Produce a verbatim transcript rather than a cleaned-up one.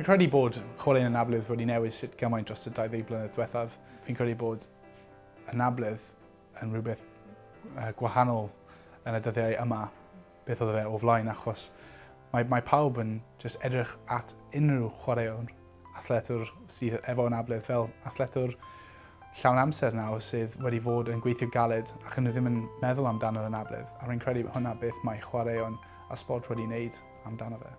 Fi'n credu bod chwaraeon anabledd wedi newid sut gymaint dros y dau ddeg blynedd diwethaf. Fi'n credu bod anabledd yn rhywbeth uh, gwahanol yn y dyddiau yma beth oedd e o flaen, achos mae, mae pawb yn just edrych at unrhyw chwaraewr, athletwr sydd efo anabledd fel athletwr llawn amser nawr sydd wedi fod yn gweithio galed ac yn nhw ddim yn meddwl amdano'r anabledd. A rwy'n credu hwnna beth mae chwaraeon a sbort wedi wneud amdano fe.